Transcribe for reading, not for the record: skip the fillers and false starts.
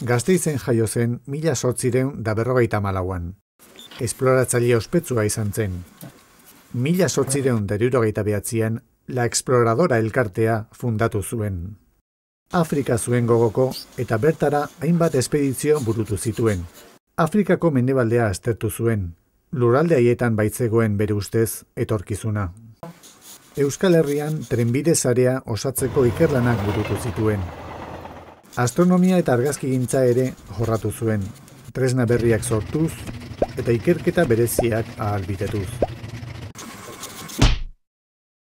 Gasteizen jaio zen 1854an. Esploratzaile ospetsua izan zen. 1869an La Exploradora elkartea fundatu zuen. Afrika zuen gogoko eta bertara hainbat espedizio burutu zituen. Afrikako mendebaldea aztertu zuen. Lurralde haietan baitzegoen bere ustez etorkizuna. Euskal Herrian trenbide sarea osatzeko ikerlanak burutu zituen. Astronomia eta argazkigintza ere jorratu zuen, tresna berriak sortuz eta ikerketa bereziak ahalbitetuz.